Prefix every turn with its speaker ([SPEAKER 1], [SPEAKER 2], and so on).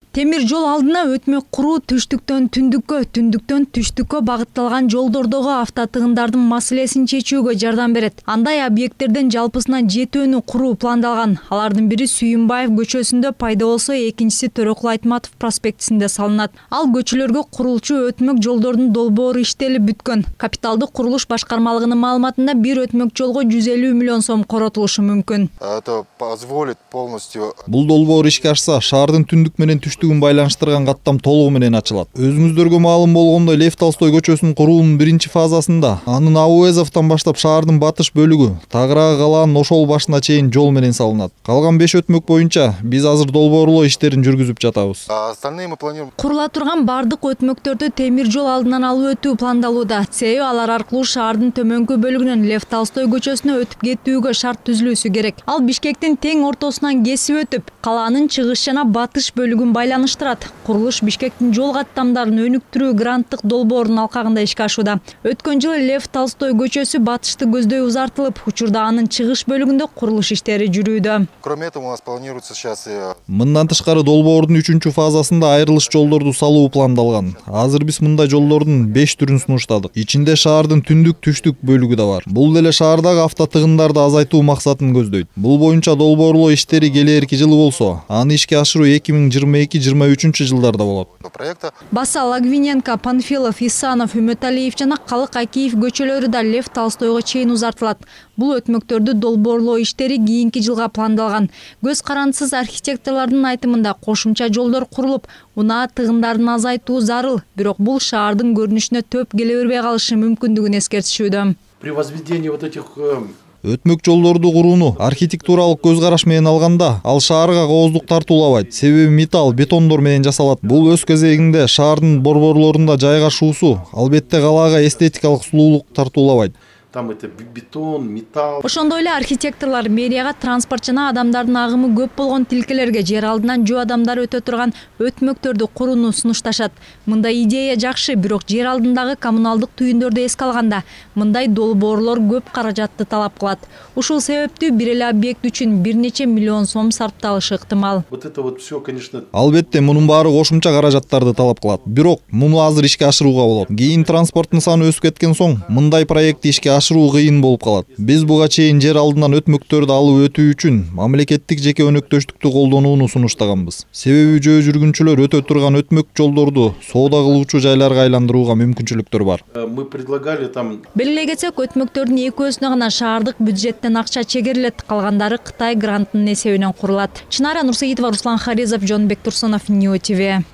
[SPEAKER 1] Темир жол алдына өтмөк куруу түштүктөн түндүккө, түндүктөн түштүккө багытталган жолдордогу автотыгындардын маселесин чечүүгө жардам берет. Андай объекттерден жалпысынан 7 куруу пландалган. Алардын бири Сүйүнбаев көчөсүндө пайда болсо, экинчиси Төрөкул Айтматов проспектисинде салынат. Ал көчөлөргө курулчу өтмөк жолдордун долбоору иштелип бүткөн. Капиталдык курулуш башкармалыгынын маалыматында бир өтмөк жолго 150 миллион сом коротулушу мүмкүн.
[SPEAKER 2] Это позволит полностью.
[SPEAKER 3] Бул долбоор ишке ашса, шаардын түндүк менен түштүгүн байланыштырган каттам толугу менен ачылат. Өзүңүздөргө маалым болгондой, Лев Толстой көчөсүнүн куруунун биринчи фазасында анын Ауэзовдон баштап шаардын батыш бөлүгү Тагыраагы калаанын ошол башына чейин жол менен салынат. Калган 5 өтмөк боюнча биз азыр долбоорлоо иштерин жүргүзүп жатабыз.
[SPEAKER 2] Остальные мы планируем.
[SPEAKER 1] Курула турган бардык өтмөктөрдү темир жол алдынан алып өтүү пландалууда. Себеби алар аркылуу шаардын төмөнкү бөлүгүнөн Лев Толстой көчөсүнө өтүп кетүүгө шарт түзүлүүсү керек. Ал Бишкектин тең ортосунан кесип өтүп, калаанын чыгыш жана батыш бөлүгүн байланыштырат. Курулуш Бишкектин жол каттамдарын өнүктүрүү гранттык долбоорунун алкагында ишке ашууда. Өткөн жылы Лев Толстой көчөсү батышты көздөй узартылып, учурда анын чыгыш бөлүгүндө курулуш иштери жүрүүдө.
[SPEAKER 2] Кроме этого, у нас планируется сейчас и...
[SPEAKER 3] Мындан тышкары долбоордун 3-чү фазасында айрылыш жолдорду салуу пландалган. Азыр биз мындай жолдордун 5 түрүн сунуштадык. Ичинде шаардын түндүк-түштүк бөлүгү да бар. Бул деле шаардагы автотыгындарды азайтуу максатын көздөйт. Бул боюнча долбоорлоо иштери келээрки жылы болсо, аны ишке ашыруу 2022-23 жылдарда болот.
[SPEAKER 1] Баса, Лагвиненко, Панфилов, Исанов, Үмөталиев жана Калык Акиев көчөлөрү да Лев Толстойго чейин узартылат. Бул өтмөктөрдү долбоорлоо иштери кийинки жылга пландалган. Көз карандысыз архитекторлордун айтымында кошумча жолдор курулуп, унаа тыгындарын азайтуу зарыл. Бирок бул шаардын көрүнүшүнө төп келе бербей калышы мүмкүндүгүн эскертишүүдө.
[SPEAKER 4] При возведении вот этих
[SPEAKER 3] Өтмөк жолдорду курууну архитектуралык көз караш менен алганда, ал шаарга кооздук тартуулабайт. Себеби металл, бетондор менен жасалат. Бул өз кезегинде шаардын борборлорунда жайгашуусу албетте калаага эстетикалык сулуулук тартуулабайт.
[SPEAKER 4] Там это бетон, металл.
[SPEAKER 1] Ошондой эле архитекторлор мэрияга транспорт жана адамдардын агымы көп болгон тилкелерге жер алдынан жөө адамдар өтө турган өтмөктөрдү курууну сунушташат. Мындай идея жакшы, бирок жер алдындагы коммуналдык түйүндөрдү эске алганда, мындай долбоорлор көп каражатты талап кылат. Ушул себептүү бир эле объект үчүн бир нече миллион сом сарпталышы ыктымал.
[SPEAKER 4] Вот это вот все, конечно.
[SPEAKER 3] Албетте, мунун баары кошумча каражаттарды талап кылат. Бирок муну азыр ишке ашырууга болот. Кийин транспорттун саны өсүп кеткен соң, мындай проектти ишке ашыруу кыйын болуп калат. Биз буга чейин жер алдынан өтмөктөрдү алып өтүү үчүн мамлекеттик жеке өнөктөштүктү колдонууну сунуштаганбыз. Себеби жөө жүргүнчүлөр өтө турган өтмөк жолдорду соода кылуучу жайларга айландырууга мүмкүнчүлүктөр бар.
[SPEAKER 4] Мы предлагали там.
[SPEAKER 1] Белгилей кетсек, өтмөктөрдүн экөөсүнө гана шаардык бюджеттен акча чегерилет, калгандары Кытай грантынын эсебинен курулат. Чынара Нурсаидова, Руслан Харизов, Жонбек Турсунов, Нью ТВ.